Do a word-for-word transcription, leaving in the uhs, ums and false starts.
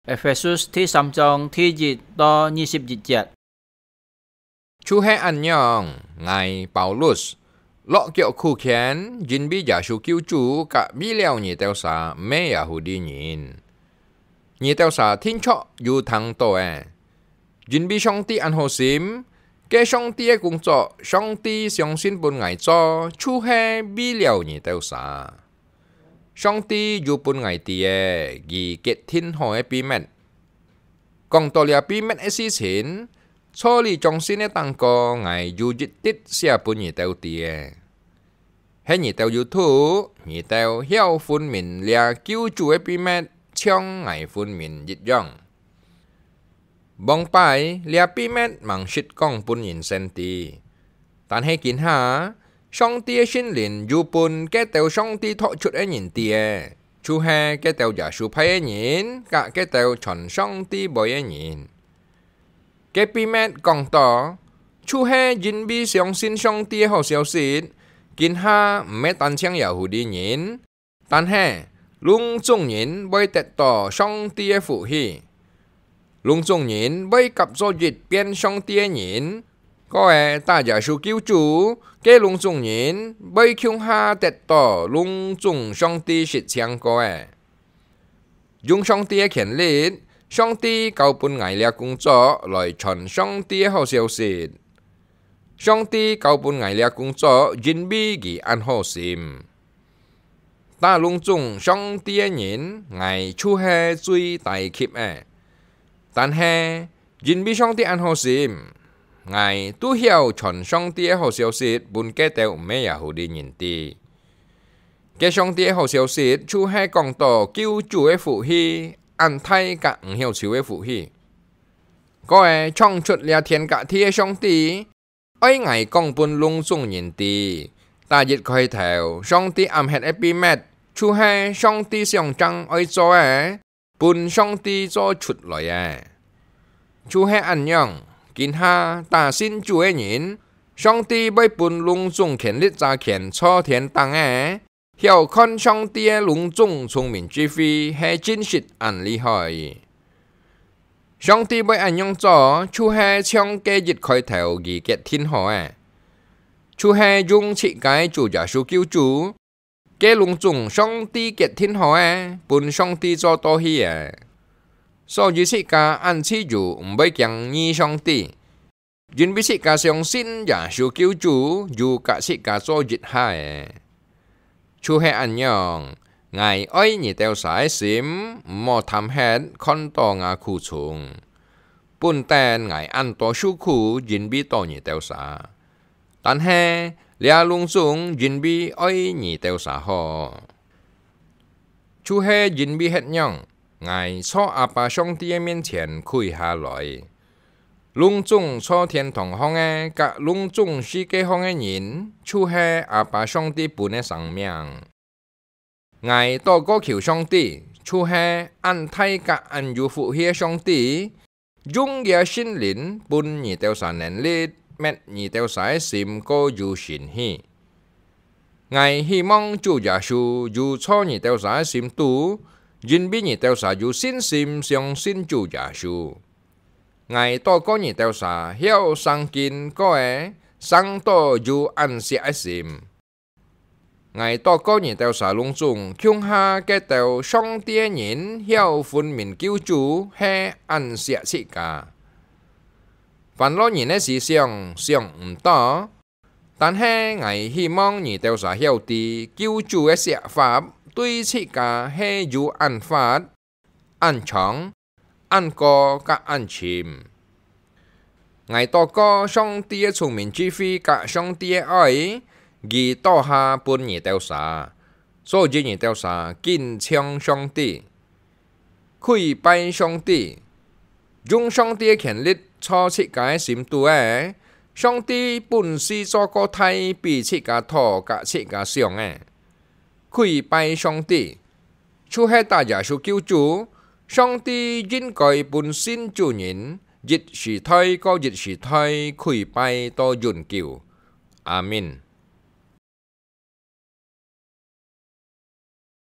Ephesus第三章第一到二十一節。就係恁樣，𠊎保祿落腳苦譴，因為耶穌救主甲為了你兜儕毋係Yahudi人。你兜儕定著有聽著个，因為上帝恁好心，該上帝个工作，上帝相信分𠊎做，就係為了你兜儕。 上帝有分𠊎知个，佢決定好个秘密。講到這秘密个事情，在這張信个頂高，𠊎有一滴寫分你兜知个，係你兜有讀，你兜曉分明這救主个秘密，像𠊎分明一樣。 往擺，這秘密吂識講分人先知，但係今下，上帝个聖靈有分該兜上帝擇出个人知个，就係該兜耶穌派个人，甲該兜傳上帝話个人。該秘密講到，就係因為相信上帝个好消息，今下毋係單淨Yahudi人， 但係，攏總人會得到上帝个福氣。攏總人會合做一變上帝个人，過个搭耶穌救主，該攏總人會共下得到攏總上帝實淨過个。用上帝个權力，上帝交分𠊎這工作來傳上帝个好消息。上帝交分𠊎這工作，因為佢恁好心。 搭攏總上帝个人，𠊎就係最低級个。但係，因為上帝恁好心，𠊎都曉傳上帝个好消息分該兜毋係Yahudi人知。該上帝个好消息就係講到救主个福氣，恁大甲毋曉愁个福氣。過个創出這天甲地个上帝， 愛𠊎講分攏總人知，打一開頭，上帝暗核个秘密，就係上帝想正愛做个，分上帝做出來个。就係恁樣，今下打信主个人，上帝會分攏總權力者權坐天頂个， 曉看上帝个攏總聰明智慧係真實恁厲害。上帝會恁樣做，就係像該一開頭佢決定好个，就係用自家个主耶穌救主，該攏總上帝決定好个，分上帝做倒去个。所以自家恁自由，毋會驚疑上帝。 因為自家相信耶穌救主有甲自家做一下个。就係恁樣，𠊎愛你兜儕个心，毋好貪核看到吾苦衷。本等𠊎恁多受苦，因為到你兜儕。但係，這攏總因為愛你兜儕好。就係因為係恁樣， 𠊎在阿爸上帝个面前跪下來。攏總在天堂項个甲攏總世界項个人，就係阿爸上帝分个生命。𠊎禱告求上帝，就係恁大甲恁有福氣个上帝， 用厥聖靈分你兜儕能力，搣你兜儕个心過有神氣。𠊎希望主耶穌有在你兜儕个心肚，因為你兜儕有信心相信主耶穌。𠊎禱告你兜儕曉生根過个，生到有恁惜个心。 𠊎禱告你兜儕攏總共下該兜上帝个人曉分明救主係恁惜自家。煩惱人个思想想毋到，但係𠊎希望你兜儕曉知救主个惜法對自家係有恁闊、 恁長、恁高甲恁深。𠊎禱告上帝个聰明智慧甲上帝个愛，佢倒下分你兜儕，所以你兜儕敬重上帝，跪拜上帝，用上帝个權力在自家个心肚个。上帝本事做過大比自家討甲自家想个，跪拜上帝， 就係打耶穌救主，上帝應該分信主人一時代過一時代跪拜到永久。阿們。